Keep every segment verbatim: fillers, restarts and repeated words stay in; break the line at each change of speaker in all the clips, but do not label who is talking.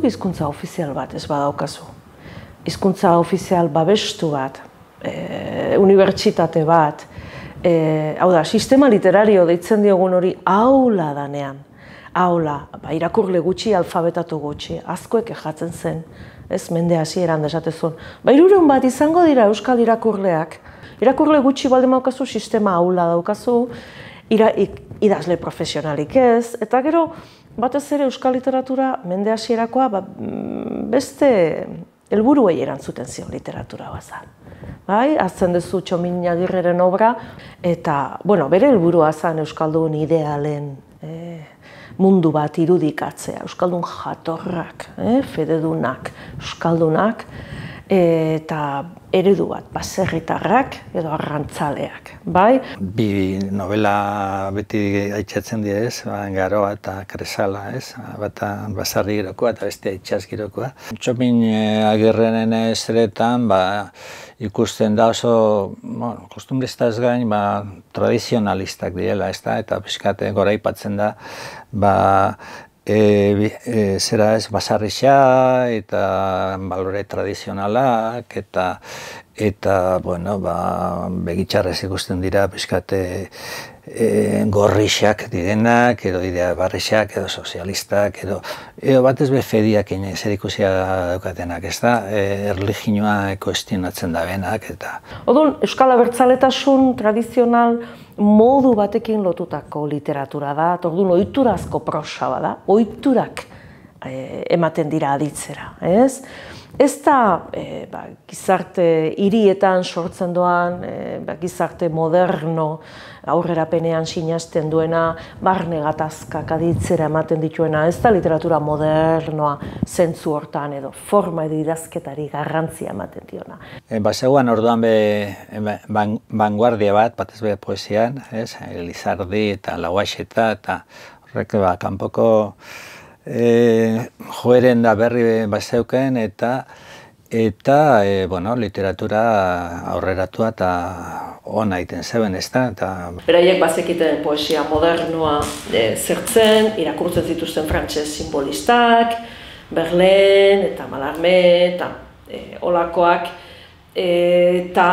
zuk hizkuntza ofizial bat ez badaukazu. Hizkuntza ofizial babestu bat, e, unibertsitate bat, e, hau da, sistema literario deitzen diogun hori aula danean. Aula, ba, irakurle gutxi, alfabetatu gutxi, askoek ejatzen zen, ez mende hasieran desatezun. Ba, hirurehun bat izango dira euskal irakurleak. Irakurle gutxi baldin daukazu, sistema aula daukazu, ira, idazle profesionalik ez, eta gero, batez ere euskal literatura mende hasierakoa ba, beste helburuei erantzuten zion literatura bazan. Bai, hartzen duzu Txomin Agirreren obra, eta, bueno, bere helburua zen euskaldun idealen e, mundu bat irudikatzea, euskaldun jatorrak, e, fededunak, euskaldunak, eta eredu bat, baserritarrak edo arrantzaleak, bai?
Bi novela beti aitzatzen dira ez, Garoa eta Kresala, ez? Bata basarri girokoa eta bestea itsas girokoa. Txomin Agirreren ezeretan ba, ikusten da oso, bueno, kostumbristaz gain, ba, tradizionalistak direla, ez da? Eta pixkate goraipatzen da, ba, E, e, zera ez, basarrixa eta balore tradizionalak eta eta, bueno, ba, begitxarrez ikusten dira pixkate e, gorrixak direnak, edo idea barrixak, edo sozialistak, edo, edo batez be fediak zer ikusia daukatenak, ez da, e, erlijinoa kuestionatzen da benak, eta...
Odun, euskal abertzaletasun tradizional modu batekin lotutako literatura da, orduan ohiturazko prosa bada, ohiturak e, ematen dira aditzera, ez? Ez da e, ba, gizarte hirietan sortzen doan, e, ba, gizarte moderno, aurrerapenean sinesten duena, barne gatazkak aditzera ematen dituena, ez da literatura modernoa zentzu hortan edo forma edo idazketari garrantzia ematen diona.
E, Bazegoan orduan be ban, vanguardia bat, batez be poesian, ez? Elizardi eta Lauaxeta eta horrek ba, kanpoko e, joeren da berri bazeuken eta eta e, bueno, literatura aurreratua eta ona egiten zeben, ez da? Eta...
Beraiek bazekiten poesia modernoa e, zertzen, irakurtzen zituzten frantses simbolistak, Verlaine eta Mallarmé eta e, olakoak, e, eta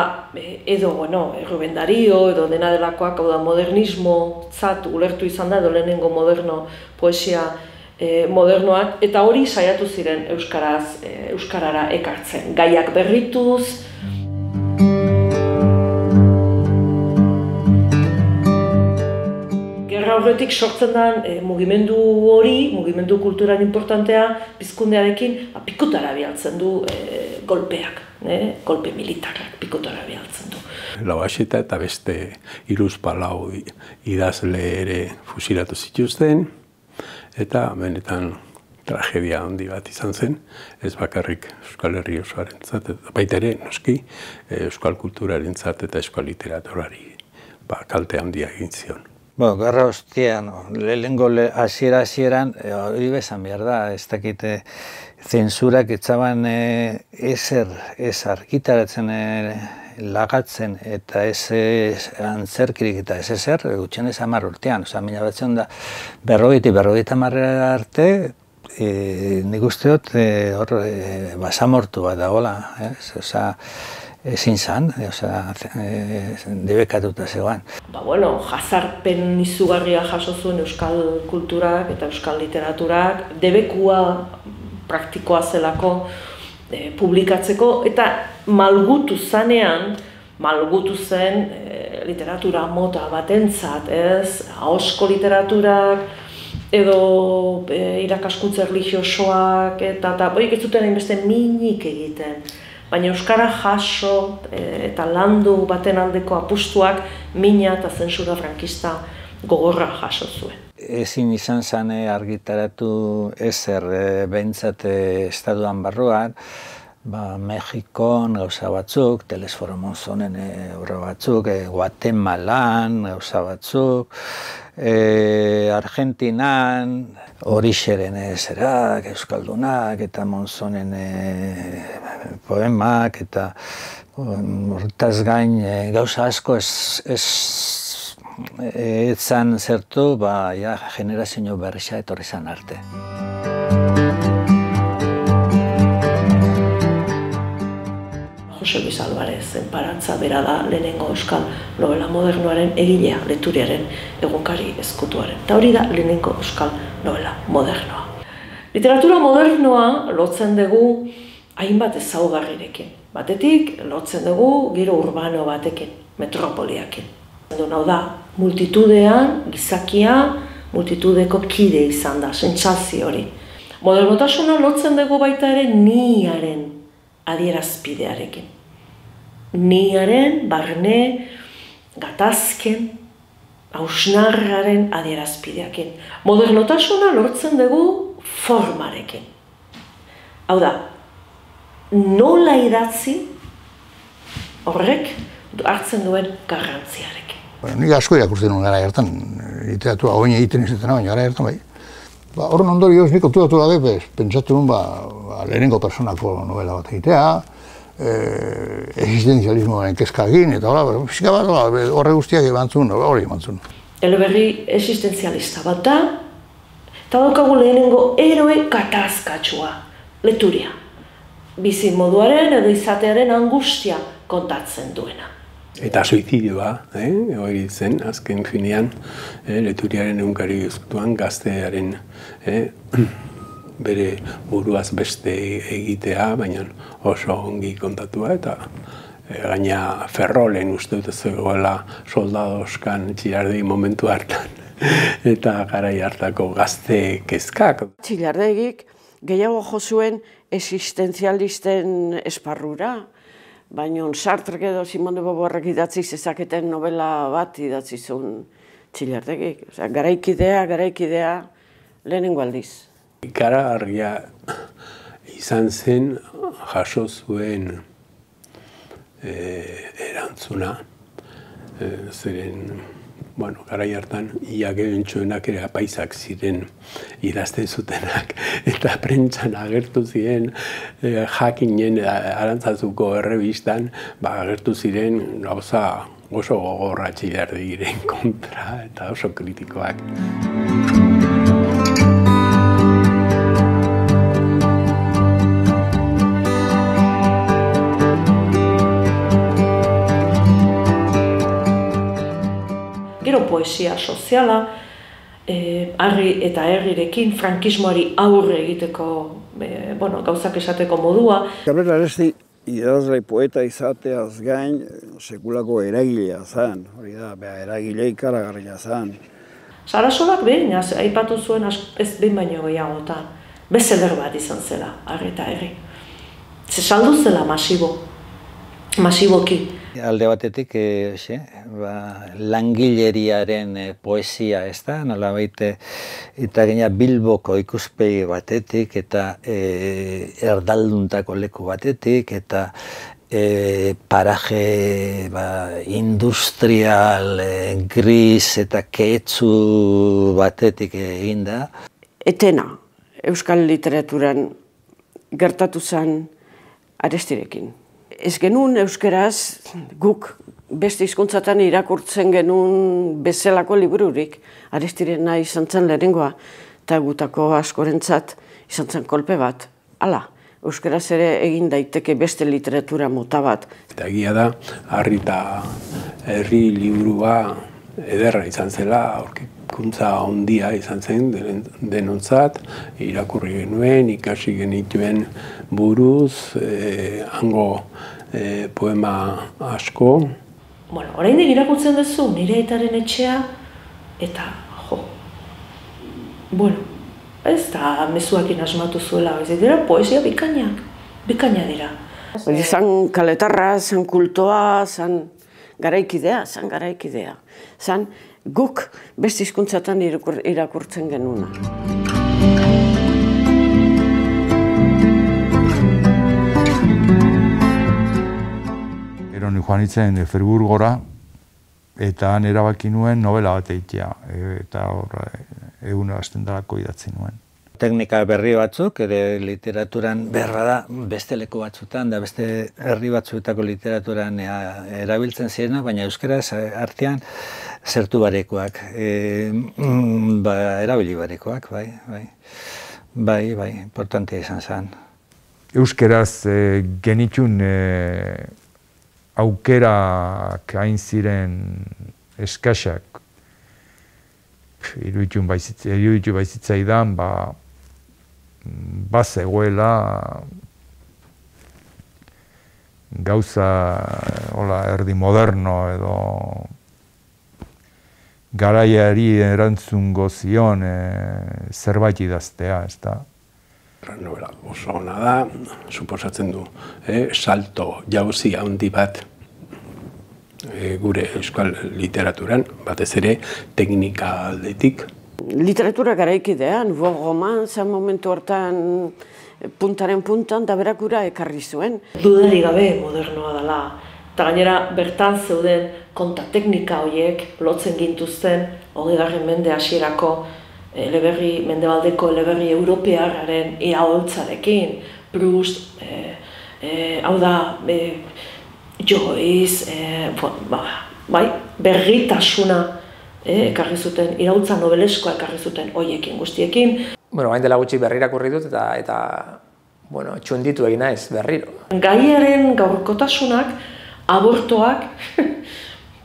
edo, bueno, Rubén Dario edo dena delakoak, hau da, modernismo zat ulertu izan da, edo lehenengo moderno poesia E, modernoak, eta hori saiatu ziren euskaraz, e, euskarara ekartzen. Gaiak berrituz. Gerra horretik sortzen den e, mugimendu hori, mugimendu kulturan importantea, pizkundearekin pikutara bialtzen du e, golpeak, e, golpe militarrak pikutara bialtzen du.
Lauaxeta eta beste hiruzpalau idazle ere fusilatu zituzten, eta benetan tragedia handi bat izan zen, ez bakarrik Euskal Herri osoarentzat, eta baita ere, noski, euskal kulturarentzat eta euskal literaturari ba, kalte handia egin zion.
Bueno, gerra ostian, lehenengo hasiera hasieran, hori bezan behar da, ez dakite zensurak etzaban ezer, ez argitaratzen lagatzen eta ez antzerkirik eta ez ezer, gutxen ez hamar urtean, oza, mila batzen da berrogeita, berrogeita hamarrera arte, e, nik usteot hor e, basamortu bat dagoela, ez? Oza, ezin zan, oza, e, debekatuta zegoan.
Ba, bueno, jazarpen izugarria jaso zuen euskal kulturak eta euskal literaturak, debekua praktikoa zelako, publikatzeko, eta malgutu zanean, malgutu zen e, literatura mota batentzat, ez? Ahosko literaturak, edo e, irakaskuntza erlijiosoak, eta eta boik ez zuten hainbeste minik egiten. Baina euskara jaso e, eta landu baten aldeko apustuak mina eta zentsura frankista gogorra jaso zuen.
Ezin izan zen argitaratu ezer behintzat estatuan barruan, ba, Mexikon gauza batzuk, Telesforo Monzonen obra batzuk, e, Guatemalan gauza batzuk, e, Argentinan, Orixeren zerak, Euskaldunak, eta Monzonen e, poemak, eta hortaz gain e, gauza asko ez, ez etzan zertu, ba, ja, generazio berrixa etorri zan arte.
Jose Luis Alvarez Enparantza bera da lehenengo euskal novela modernoaren egilea, Leturiaren egunkari ezkutuaren. Eta hori da lehenengo euskal novela modernoa. Literatura modernoa lotzen dugu hainbat ezaugarrirekin. Batetik, lotzen dugu giro urbano batekin, metropoliakin. Hau da, multitudean, gizakia, multitudeko kide izan da, sentsazio hori. Modernotasuna lotzen dugu baita ere niaren adierazpidearekin. Niaren, barne, gatazken, hausnarraren adierazpideakin. Modernotasuna lortzen dugu formarekin. Hau da, nola idatzi horrek hartzen duen garrantziarekin.
Nik asko irakurtzen nuen gara hartan, literatura oin egiten izaten baina gara hartan bai. Horren ondorioz nik konturatu gabe, pentsatu nuen lehenengo personako novela bat egitea, existenzialismoaren kezka egin, eta fisika bat horre guztiak ebantzun, hori ebantzun.
Eleberri existenzialista bat da, eta daukagu lehenengo eroe katazkatsua, Leturia. Bizi moduaren edo izatearen angustia kontatzen duena.
Eta suizidioa, hori zen, azken finean, Leturiaren egunkari ezkutuan gaztearen bere buruaz beste egitea, baina oso ongi kontatua, eta gaina Ferrolen uste dut zegoela soldadoskan Txillardegi momentu hartan, eta garai hartako gazte kezkak.
Txillardegik gehiago jo zuen existenzialisten esparrura, baina Sartrek edo Simone de Beauvoirrek idatzi zezaketen novela bat idatzi zuen Txillardegik. Garaikidea, garaikidea, lehenengo aldiz.
Ikaragarria izan zen jaso zuen erantzuna, zeren bueno, garai hartan, ia gehientsuenak ere apaisak ziren idazten zutenak, eta prentsan agertu ziren jakinen Arantzazuko errebistan, agertu ziren gauza oso gogorra Txillardegiren kontra eta oso kritikoak.
Gero poesia soziala, harri eta herrirekin, frankismoari aurre egiteko gauzak esateko modua.
Cabrera Aresti idazle poeta izateaz gain sekulako eragilea zen, hori da, eragile ikaragarria zen.
Sarasolak behin, aipatu zuen ez behin baino gehiagotan, bestseller bat izan zela, harri eta herri. Ze saldu zela masibo, masiboki.
Alde batetik, langileriaren poesia, ez da, nolabait, eta gaina Bilboko ikuspegi batetik, eta erdalduntako leku batetik, eta paraje industrial, gris eta keetsu batetik eginda.
Etena, euskal literaturan gertatu zen Arestirekin. Ez genuen euskeraz guk beste hizkuntzatan irakurtzen genuen bezalako libururik. Arestirena izan zen lehenengoa eta gutako askorentzat izan zen kolpe bat. Hala, euskeraz ere egin daiteke beste literatura mota bat.
Eta egia da, harri eta herri liburua ederra izan zela, aurkikuntza handia izan zen denontzat, irakurri genuen, ikasi genituen buruz, hango poema asko.
Bueno, oraindik irakurtzen duzu nire aitaren etxea, eta jo, bueno, ez da mezuakin asmatu zuela, ez dira poesia bikainak, bikaina dira.
Zan kaletarra, zan kultoa, zan garaikidea, zan garaikidea. Zan guk beste hizkuntzatan irakurtzen genuna.
Gero ni joan nintzen Friburgora, eta han erabaki nuen novela bat egitea, eta hor egun hasten darako idatzi nuen.
Teknika berri batzuk, ere literaturan berra da beste leku batzutan, da beste herri batzuetako literaturan erabiltzen zirena, baina euskaraz artean zertu barekoak, erabili barekoak, bai, bai, bai, bai, importantea izan zen.
euskeraz e, genitun e, aukerak hain ziren eskasak, iruditu baizitzaidan, ba, bazegoela gauza hola, erdi moderno edo garaiari erantzungo zion e, zerbait idaztea, ez da.
Novela oso ona da, suposatzen du, eh, salto jauzi handi bat eh, gure euskal literaturan, batez ere teknika aldetik.
Literatura garaikidean, bo roman, zen momentu hortan puntaren puntan, da berak gura ekarri zuen.
Dudari gabe modernoa dela, eta gainera bertan zeuden konta teknika horiek lotzen gintuzten hogeigarren mende hasierako eleberri, mendebaldeko eleberri europearraren iraholtzarekin, Proust, e, e, hau da, e, Joyce, e, ba, bai, berritasuna e, ekarri zuten, iraultza nobeleskoa ekarri zuten hoiekin guztiekin.
Bueno, hain dela gutxi berrirakurri dut eta, eta bueno, txunditu egin naiz berriro.
Gaiaren gaurkotasunak, abortoak,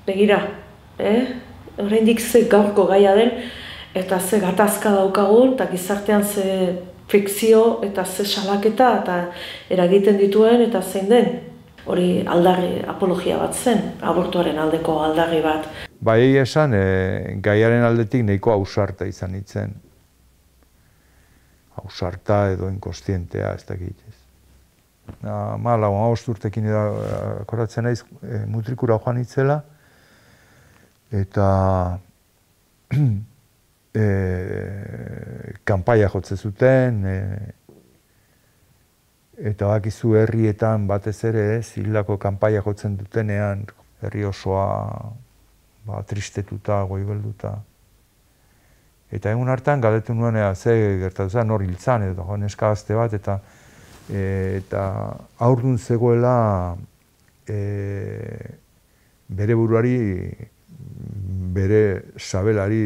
begira, eh? Oraindik ze gaurko gaia den, eta ze gatazka daukagun, eta gizartean ze fikzio eta ze salaketa eta eragiten dituen eta zein den. Hori aldarri, apologia bat zen, abortuaren aldeko aldarri bat.
Bai esan, e, gaiaren aldetik nahiko ausarta izan nintzen. Ausarta edo inkostientea, ez dakit. Mala, hamabost urtekin akoratzen naiz, e, mutrikura joan nitzela, eta E, kanpaia jotze zuten, e, eta bakizu herrietan batez ere ez, hildako kanpaia jotzen dutenean, herri osoa ba, tristetuta, goibelduta. Eta egun hartan galdetu nuen ea, ze gertatu zen, hor hiltzan, edo neska gazte bat, eta, e, eta haurdun zegoela e, bere buruari, bere sabelari,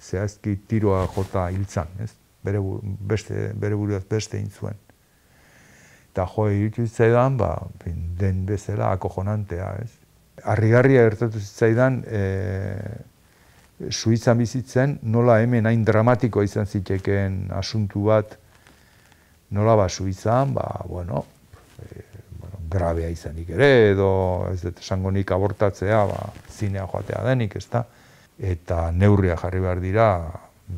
zehazki tiroa jota hiltzan, ez? Bere, beste, bere buruaz beste egin zuen. Eta jo, iruditu zitzaidan, ba, den bezala akojonantea, ez? Harrigarria gertatu zitzaidan, e, Suitzan bizitzen, nola hemen hain dramatikoa izan zitekeen asuntu bat, nola ba Suitzan, ba, bueno, e, bueno, grabea izanik ere, edo ez dut esango nik abortatzea, ba, zinea joatea denik, ez da? Eta neurria jarri behar dira,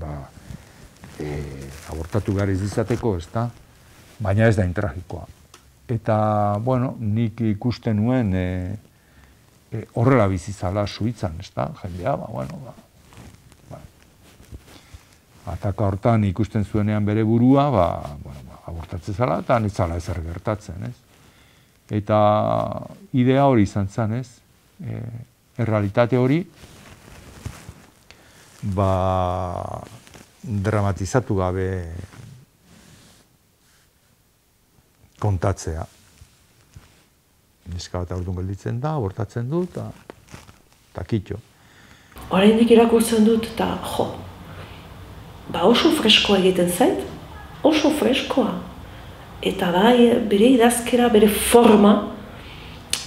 ba, e, abortatu behar izateko, ez da? Baina ez da intragikoa. Eta, bueno, nik ikusten nuen e, e, horrela bizizala Suitzan, ez da? Jendea, ba, bueno, ba, ba. Ataka hortan ikusten zuenean bere burua, ba, bueno, ba, abortatzen zala, eta nitzala ezer gertatzen, ez? Eta idea hori izan zen, ez? E, errealitate hori, ba, dramatizatu gabe kontatzea. Neska bat aurtun gelditzen da, abortatzen du, eta kitxo.
Oraindik irakurtzen dut, eta jo, ba oso freskoa egiten zait, oso freskoa. Eta bai, bere idazkera, bere forma,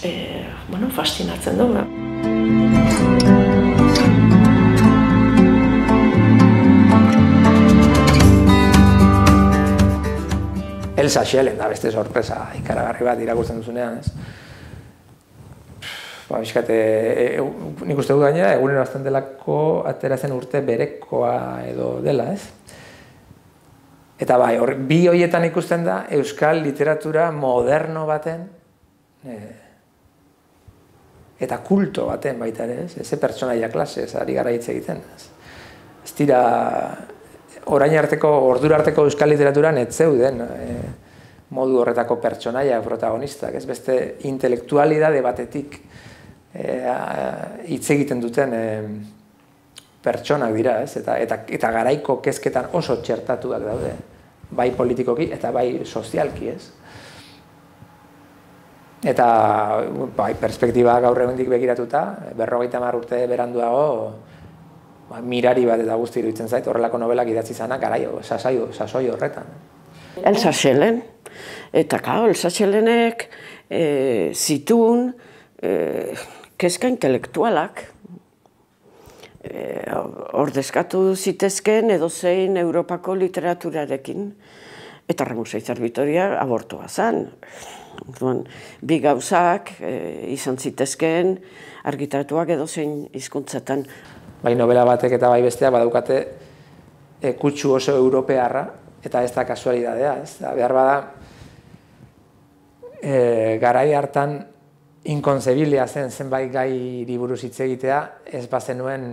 e, bueno, fastinatzen du.
Elsa Schellen da beste sorpresa ikaragarri bat irakurtzen duzunean, ez? Ba, bizkate, e, e, nik uste dut gainera, egunero azten delako atera zen urte berekoa edo dela, ez? Eta bai, hor, bi horietan ikusten da euskal literatura moderno baten e, eta kulto baten baita ere, ez? Eze pertsonaia klase, ez ari gara hitz egiten, ez? Ez dira, orain arteko, ordura arteko euskal literaturan ez zeuden e, modu horretako pertsonaia protagonistak, ez? Beste intelektualidade batetik hitz egiten duten e, pertsonak dira, ez? Eta, eta, eta garaiko kezketan oso txertatuak daude, bai politikoki eta bai sozialki, ez? Eta bai, perspektiba gaur egundik begiratuta, berrogeita hamar urte beranduago, ba, mirari bat eta guzti iruditzen zait, horrelako nobelak idatzi zanak garaio, sasoi, sasoi horretan.
Elsa Schellen, Eta, claro, Elsa-Txelenek e, zituen e, kezka intelektualak. E, ordezkatu zitezken edozein Europako literaturarekin. Eta Ramosai Zarbitoria abortua zen. Bi gauzak e, izan zitezken argitaratuak edozein hizkuntzetan.
Bai novela batek eta bai besteak badaukate e, kutsu oso europearra, eta ez da kasualidadea, ez da, behar bada e, garai hartan inkonzebilia zen zenbait gai buruz hitz egitea, ez bazenuen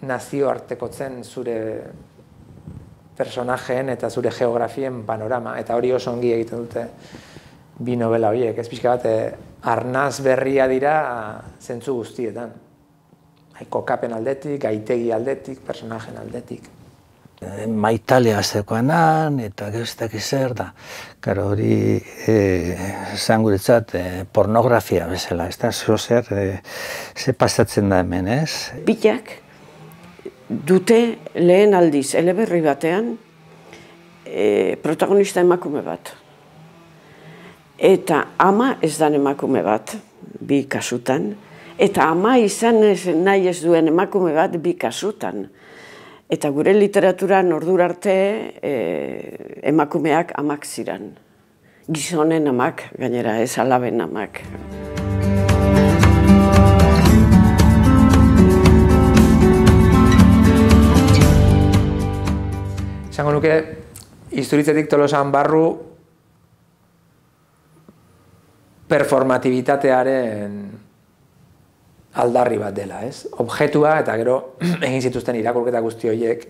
nazioartekotzen zure personajeen eta zure geografien panorama, eta hori oso ongi egiten dute bi novela horiek, ez pixka bat, arnaz berria dira zentzu guztietan. Kokapen aldetik, gaitegi aldetik, personajen aldetik.
Maitalea zekoanan, eta geztak izer da. Karo hori, zan guretzat, pornografia bezala, ez da, zozer, ze pasatzen da hemen, ez?
Bitak dute lehen aldiz, eleberri batean, protagonista emakume bat. Eta ama ez dan emakume bat, bi kasutan, eta ama izan nahi ez duen emakume bat bi kasutan. Eta gure literaturan ordura arte emakumeak amak ziren. Gizonen amak, gainera ez alaben amak.
Esango nuke, Isturitzetik Tolosan barru performatibitatearen aldarri bat dela, ez? Objetua, eta gero egin zituzten irakurketa guzti horiek,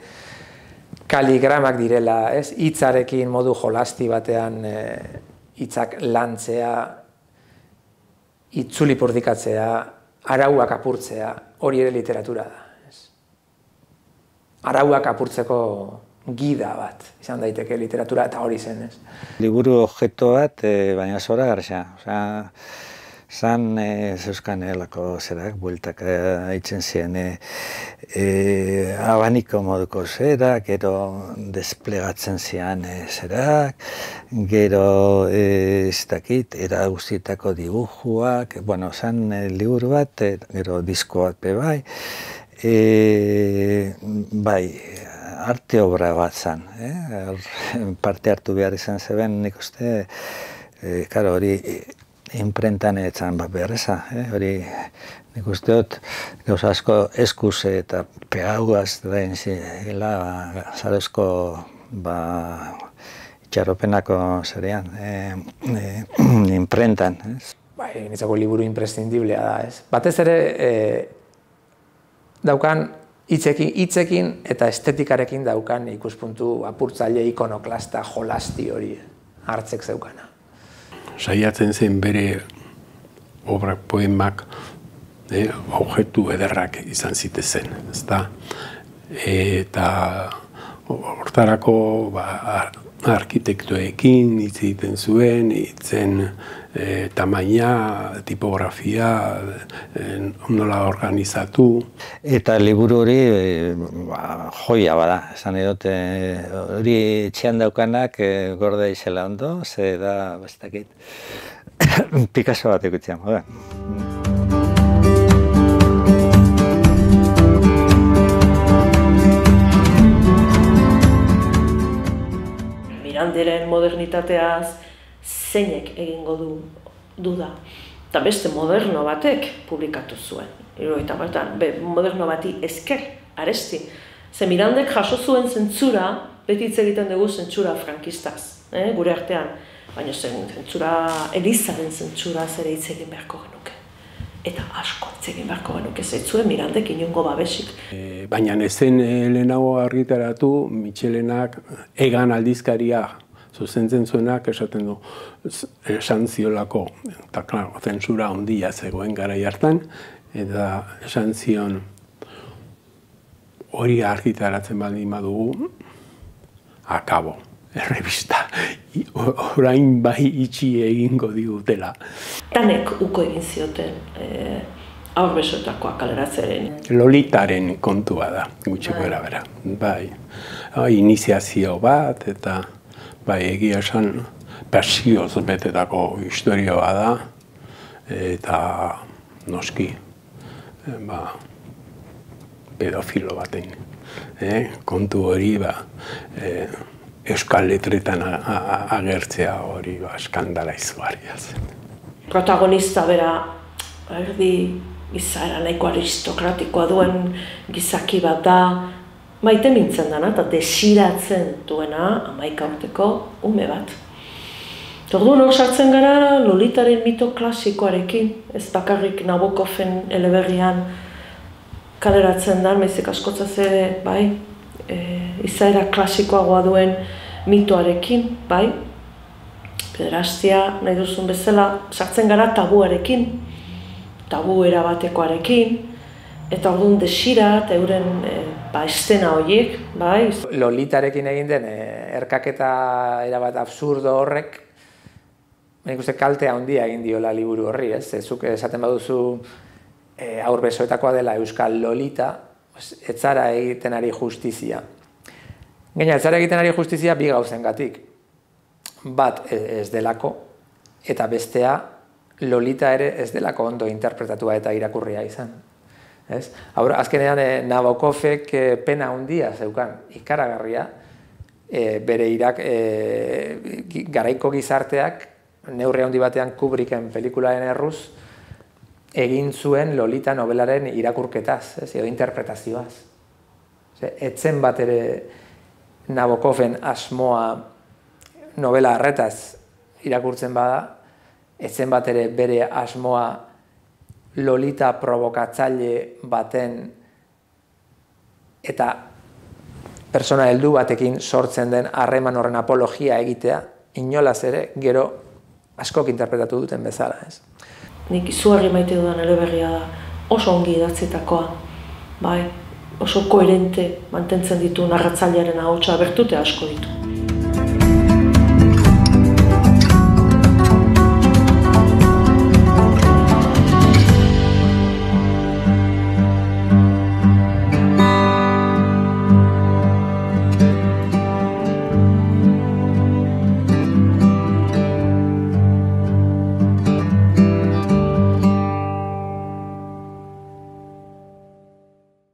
kaligramak direla, ez? Hitzarekin modu jolasti batean hitzak lantzea, itzuli purdikatzea, arauak apurtzea, hori ere literatura da, ez? Arauak apurtzeko gida bat, izan daiteke literatura, eta hori zen, ez? Liburu objektu bat, baina zora garxa, osea, zan zeuzkan elako zerak, bueltak haitzen ziren abaniko moduko zerak, gero desplegatzen zian zerak, gero ez dakit, era guztietako dibujuak, bueno, zan liburu bat, gero disko bat be bai, bai, arte obra bat zan, parte hartu behar izan zeben, nik uste, karo hori, imprentan etzan bat beharreza, hori nik uste dut gauza asko eskuz eta pegaugaz dain zila zarezko itxarropenako zerean, imprentan. Bai, nitzako liburu imprescindiblea da, ez? Batez ere daukan hitzekin eta estetikarekin daukan ikuspuntu apurtzaile ikonoklasta jolasti hori hartzek zeukana.
Saiatzen zen bere obrak, poemak, objektu ederrak izan zitezen, ezta? Eta hortarako arkitektoekin hitz egiten zuen, hitzen tamaina, tipografia, nola organizatu. Eta liburu hori joia bada, esan edot, hori etxean daukanak gorde izela ondo, ze da, bestakit, Picasso bat ekutzean, joda.
Miranderen modernitateaz zeinek egingo du duda. Eta beste moderno batek publikatu zuen. Hirurogeita batean, moderno bati esker, aresti. Ze Mirandek jaso zuen zentzura, beti hitz egiten dugu zentzura frankistaz, gure artean. Baina zentzura, Elizaren zentzura zere hitz egin beharko genuke. Eta asko hitz egin beharko genuke, zeitzuen Mirandek inongo babesik.
Baina ezen lehenago argitaratu, Mitxelenak Egan aldizkaria zuzentzen zuenak esaten du esan ziolako, eta klaro, zentsura handia zegoen garai hartan, eta esan zion hori argitaratzen baldin badugu, akabo, errebista, orain bai itxi egingo digutela.
Tanek uko egin zioten aur besotakoa kaleratzeren.
Lolitaren kontua da, gutxiko erabera, bai. Iniziazio bat, eta bai, egia esan, pasioz betetako historioa da, eta noski, ba, pedofilo baten. Eh? Kontu hori, ba, eh, euskal letretan agertzea hori ba, eskandala izugarria zen.
Protagonista bera, erdi izaera nahiko aristokratikoa duen gizaki bat da, maite mintzen dana eta desiratzen duena hamaika urteko ume bat. Orduan hor sartzen gara Lolitaren mito klasikoarekin, ez bakarrik Nabokoven eleberrian kaleratzen da, maizik askotzaz ere, bai, e, izaera klasikoagoa duen mitoarekin, bai, pederastia nahi duzun bezala sartzen gara tabuarekin, tabu erabatekoarekin, eta orduan desira eta euren e, ba, estena horiek, bai.
Lolitarekin egin den e, erkaketa erabat absurdo horrek, nik uste kaltea handia egin diola liburu horri, ez? Zuk esaten baduzu e, aur besoetakoa dela Euskal Lolita, ez zara egiten ari justizia. Gaina, ez zara egiten ari justizia bi gauzengatik. Bat ez delako, eta bestea Lolita ere ez delako ondo interpretatua eta irakurria izan. Ez? Haur, azkenean e, Nabokovek e, pena handia zeukan, ikaragarria, e, bere irak, e, garaiko gizarteak, neurri handi batean Kubricken pelikulaen erruz, egin zuen Lolita nobelaren irakurketaz, ez, edo interpretazioaz. Etzen bat ere Nabokoven asmoa novela harretaz irakurtzen bada, etzen bat ere bere asmoa Lolita provokatzaile baten eta persona heldu batekin sortzen den harreman horren apologia egitea, inolaz ere, gero askok interpretatu duten bezala, ez.
Nik izugarri maite dudan eleberria da, oso ongi idatzitakoa, bai, oso koherente mantentzen ditu narratzailearen ahotsa, bertute asko ditu.